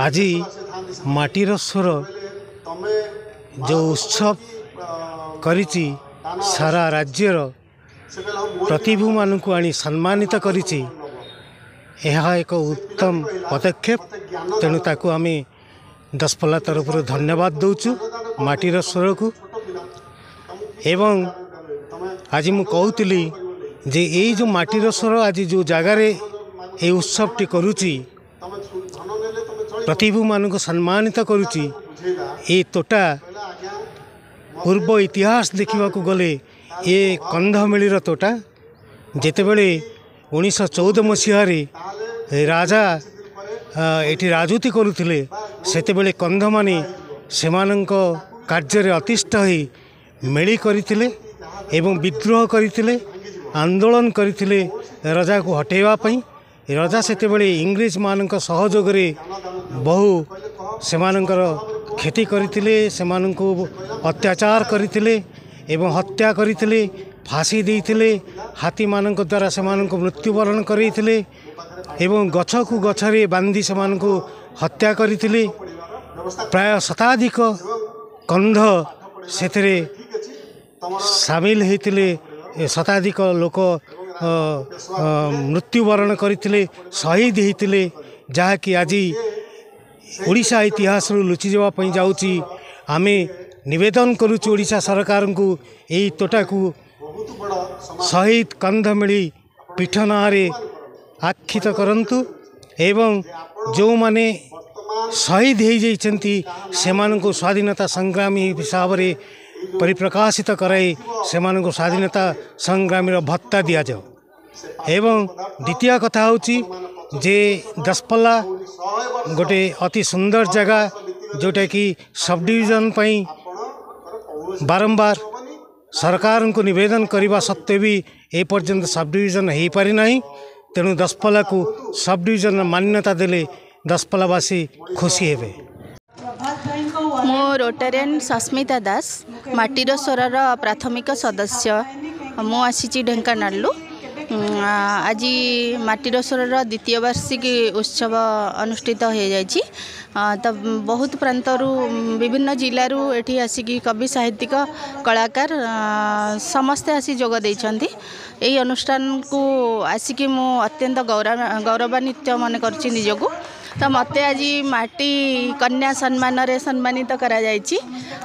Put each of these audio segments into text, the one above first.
ଆଜି ମାଟିର ସ୍ୱର ଯେଉଁ ଉତ୍ସବ କରିଛି, ସାରା ରାଜ୍ୟର ପ୍ରତିଭୂମାନଙ୍କୁ ଆଣି ସମ୍ମାନିତ କରିଛି, ଏହା ଏକ ଉତ୍ତମ ପଦକ୍ଷେପ। ତେଣୁ ତାକୁ ଆମେ ଦଶପଲ୍ଲା ତରଫରୁ ଧନ୍ୟବାଦ ଦେଉଛୁ ମାଟିର ସ୍ୱରକୁ। ଏବଂ ଆଜି ମୁଁ କହୁଥିଲି ଯେ ଏଇ ଯେଉଁ ମାଟିର ସ୍ୱର ଆଜି ଯେଉଁ ଜାଗାରେ ଏଇ ଉତ୍ସବଟି କରୁଛି, ପ୍ରତିଭୂମାନଙ୍କୁ ସମ୍ମାନିତ କରୁଛି, ଏ ତୋଟା ପୂର୍ବ ଇତିହାସ ଦେଖିବାକୁ ଗଲେ ଏ କନ୍ଧମିଳିର ତୋଟା। ଯେତେବେଳେ 1914 ମସିହାରେ ରାଜା ଏଠି ରାଜୁତି କରୁଥିଲେ, ସେତେବେଳେ କନ୍ଧମାନେ ସେମାନଙ୍କ କାର୍ଯ୍ୟରେ ଅତିଷ୍ଠ ହୋଇ ମେଳି କରିଥିଲେ ଏବଂ ବିଦ୍ରୋହ କରିଥିଲେ, ଆନ୍ଦୋଳନ କରିଥିଲେ ରଜାକୁ ହଟାଇବା ପାଇଁ। ରଜା ସେତେବେଳେ ଇଂରେଜମାନଙ୍କ ସହଯୋଗରେ ବହୁ ସେମାନଙ୍କର କ୍ଷତି କରିଥିଲେ, ସେମାନଙ୍କୁ ଅତ୍ୟାଚାର କରିଥିଲେ ଏବଂ ହତ୍ୟା କରିଥିଲେ, ଫାଶୀ ଦେଇଥିଲେ, ହାତୀମାନଙ୍କ ଦ୍ୱାରା ସେମାନଙ୍କୁ ମୃତ୍ୟୁବରଣ କରାଇଥିଲେ ଏବଂ ଗଛକୁ ଗଛରେ ବାନ୍ଧି ସେମାନଙ୍କୁ ହତ୍ୟା କରିଥିଲେ। ପ୍ରାୟ ଶତାଧିକ କନ୍ଧ ସେଥିରେ ସାମିଲ ହୋଇଥିଲେ, ଶତାଧିକ ଲୋକ ମୃତ୍ୟୁବରଣ କରିଥିଲେ, ଶହୀଦ ହୋଇଥିଲେ, ଯାହାକି ଆଜି ଓଡ଼ିଶା ଇତିହାସରୁ ଲୁଚିଯିବା ପାଇଁ ଯାଉଛି। ଆମେ ନିବେଦନ କରୁଛୁ ଓଡ଼ିଶା ସରକାରଙ୍କୁ, ଏଇ ତୋଟାକୁ ଶହୀଦ କନ୍ଧମିଳି ପୀଠ ନାଁରେ ଆକ୍ଷିତ କରନ୍ତୁ ଏବଂ ଯେଉଁମାନେ ଶହୀଦ ହୋଇଯାଇଛନ୍ତି ସେମାନଙ୍କୁ ସ୍ୱାଧୀନତା ସଂଗ୍ରାମୀ ହିସାବରେ ପରିପ୍ରକାଶିତ କରାଇ ସେମାନଙ୍କୁ ସ୍ୱାଧୀନତା ସଂଗ୍ରାମୀର ଭତ୍ତା ଦିଆଯାଉ। ଏବଂ ଦ୍ୱିତୀୟ କଥା ହେଉଛି ଯେ ଦଶପଲ୍ଲା ଗୋଟେ ଅତି ସୁନ୍ଦର ଜାଗା, ଯେଉଁଟାକି ସବ୍ ଡିଭିଜନ୍ ପାଇଁ ବାରମ୍ବାର ସରକାରଙ୍କୁ ନିବେଦନ କରିବା ସତ୍ତ୍ୱେ ବି ଏପର୍ଯ୍ୟନ୍ତ ସବ୍ ଡିଭିଜନ୍ ହୋଇପାରିନାହିଁ। ତେଣୁ ଦଶପଲ୍ଲାକୁ ସବ୍ ଡିଭିଜନ୍ର ମାନ୍ୟତା ଦେଲେ ଦଶପଲ୍ଲାବାସୀ ଖୁସି ହେବେ। ମୁଁ ରୋଟାରିଆନ୍ ସସ୍ମିତା ଦାସ, ମାଟିର ସ୍ୱରର ପ୍ରାଥମିକ ସଦସ୍ୟ। ମୁଁ ଆସିଛି ଢେଙ୍କାନାଳରୁ। ଆଜି ମାଟିର ସ୍ୱରର ଦ୍ୱିତୀୟ ବାର୍ଷିକୀ ଉତ୍ସବ ଅନୁଷ୍ଠିତ ହୋଇଯାଇଛି। ତ ବହୁତ ପ୍ରାନ୍ତରୁ, ବିଭିନ୍ନ ଜିଲ୍ଲାରୁ ଏଠି ଆସିକି କବି, ସାହିତ୍ୟିକ, କଳାକାର ସମସ୍ତେ ଆସି ଯୋଗ ଦେଇଛନ୍ତି। ଏହି ଅନୁଷ୍ଠାନକୁ ଆସିକି ମୁଁ ଅତ୍ୟନ୍ତ ଗୌରବାନ୍ୱିତ ମନେ କରୁଛି ନିଜକୁ। ତ ମୋତେ ଆଜି ମାଟି କନ୍ୟା ସମ୍ମାନରେ ସମ୍ମାନିତ କରାଯାଇଛି।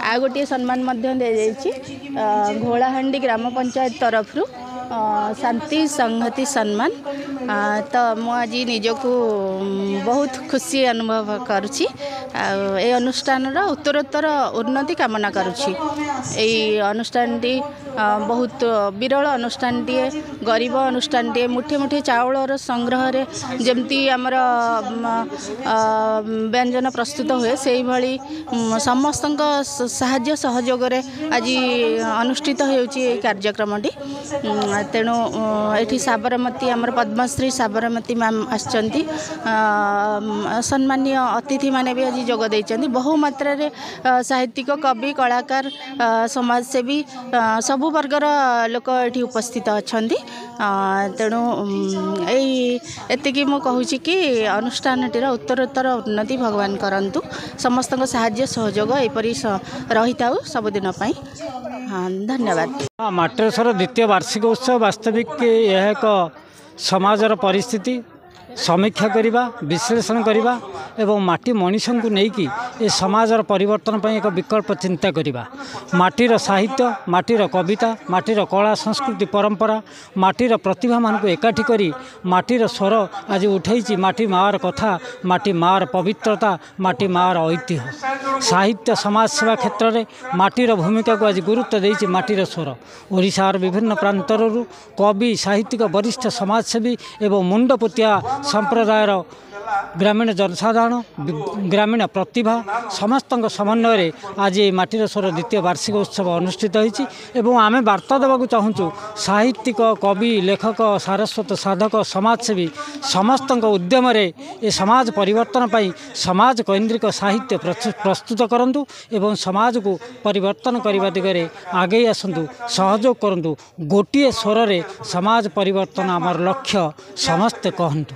ଆଉ ଗୋଟିଏ ସମ୍ମାନ ମଧ୍ୟ ଦିଆଯାଇଛି ଘୋଳାହାଣ୍ଡି ଗ୍ରାମ ପଞ୍ଚାୟତ ତରଫରୁ, ଶାନ୍ତି ସଂହତି ସମ୍ମାନ। ତ ମୁଁ ଆଜି ନିଜକୁ ବହୁତ ଖୁସି ଅନୁଭବ କରୁଛି ଆଉ ଏ ଅନୁଷ୍ଠାନର ଉତ୍ତରୋତ୍ତର ଉନ୍ନତି କାମନା କରୁଛି। ଏଇ ଅନୁଷ୍ଠାନଟି ବହୁତ ବିରଳ ଅନୁଷ୍ଠାନଟିଏ, ଗରିବ ଅନୁଷ୍ଠାନଟିଏ। ମୁଠେ ମୁଠେ ଚାଉଳର ସଂଗ୍ରହରେ ଯେମିତି ଆମର ବ୍ୟଞ୍ଜନ ପ୍ରସ୍ତୁତ ହୁଏ, ସେଇଭଳି ସମସ୍ତଙ୍କ ସାହାଯ୍ୟ ସହଯୋଗରେ ଆଜି ଅନୁଷ୍ଠିତ ହେଉଛି ଏହି କାର୍ଯ୍ୟକ୍ରମଟି। ତେଣୁ ଏଠି ସାବରମତୀ, ଆମର ପଦ୍ମଶ୍ରୀ ସାବରମତୀ ମ୍ୟାମ୍ ଆସିଛନ୍ତି, ସମ୍ମାନୀୟ ଅତିଥିମାନେ ବି ଆଜି ଯୋଗ ଦେଇଛନ୍ତି। ବହୁ ମାତ୍ରାରେ ସାହିତ୍ୟିକ, କବି, କଳାକାର, ସମାଜସେବୀ, ସବୁ ବର୍ଗର ଲୋକ ଏଠି ଉପସ୍ଥିତ ଅଛନ୍ତି। ତେଣୁ ଏଇ ଏତିକି ମୁଁ କହୁଛି କି ଅନୁଷ୍ଠାନଟିର ଉତ୍ତରୋତ୍ତର ଉନ୍ନତି ଭଗବାନ କରନ୍ତୁ, ସମସ୍ତଙ୍କ ସାହାଯ୍ୟ ସହଯୋଗ ଏପରି ରହିଥାଉ ସବୁଦିନ ପାଇଁ। ହଁ, ଧନ୍ୟବାଦ। ମାଟିର ସ୍ୱର ଦ୍ୱିତୀୟ ବାର୍ଷିକ ଉତ୍ସବ ବାସ୍ତବିକ ଏହା ଏକ ସମାଜର ପରିସ୍ଥିତି ସମୀକ୍ଷା କରିବା, ବିଶ୍ଳେଷଣ କରିବା ଏବଂ ମାଟି ମଣିଷଙ୍କୁ ନେଇକି ଏ ସମାଜର ପରିବର୍ତ୍ତନ ପାଇଁ ଏକ ବିକଳ୍ପ ଚିନ୍ତା କରିବା। ମାଟିର ସାହିତ୍ୟ, ମାଟିର କବିତା, ମାଟିର କଳା, ସଂସ୍କୃତି, ପରମ୍ପରା, ମାଟିର ପ୍ରତିଭାମାନଙ୍କୁ ଏକାଠି କରି ମାଟିର ସ୍ୱର ଆଜି ଉଠେଇଛି ମାଟି ମାଆର କଥା, ମାଟି ମାଆର ପବିତ୍ରତା, ମାଟି ମାଆର ଐତିହ୍ୟ। ସାହିତ୍ୟ ସମାଜସେବା କ୍ଷେତ୍ରରେ ମାଟିର ଭୂମିକାକୁ ଆଜି ଗୁରୁତ୍ୱ ଦେଇଛି ମାଟିର ସ୍ୱର। ଓଡ଼ିଶାର ବିଭିନ୍ନ ପ୍ରାନ୍ତରରୁ କବି, ସାହିତ୍ୟିକ, ବରିଷ୍ଠ ସମାଜସେବୀ ଏବଂ ମୁଣ୍ଡପୋତିଆ ସମ୍ପ୍ରଦାୟର ଗ୍ରାମୀଣ ଜନସାଧାରଣ, ଗ୍ରାମୀଣ ପ୍ରତିଭା ସମସ୍ତଙ୍କ ସମନ୍ୱୟରେ ଆଜି ଏହି ମାଟିର ସ୍ୱର ଦ୍ୱିତୀୟ ବାର୍ଷିକ ଉତ୍ସବ ଅନୁଷ୍ଠିତ ହୋଇଛି। ଏବଂ ଆମେ ବାର୍ତ୍ତା ଦେବାକୁ ଚାହୁଁଛୁ, ସାହିତ୍ୟିକ, କବି, ଲେଖକ, ସାରସ୍ୱତ ସାଧକ, ସମାଜସେବୀ ସମସ୍ତଙ୍କ ଉଦ୍ୟମରେ ଏ ସମାଜ ପରିବର୍ତ୍ତନ ପାଇଁ ସମାଜ କୈନ୍ଦ୍ରିକ ସାହିତ୍ୟ ପ୍ରସ୍ତୁତ କରନ୍ତୁ ଏବଂ ସମାଜକୁ ପରିବର୍ତ୍ତନ କରିବା ଦିଗରେ ଆଗେଇ ଆସନ୍ତୁ, ସହଯୋଗ କରନ୍ତୁ। ଗୋଟିଏ ସ୍ୱରରେ ସମାଜ ପରିବର୍ତ୍ତନ ଆମର ଲକ୍ଷ୍ୟ, ସମସ୍ତେ କହନ୍ତୁ।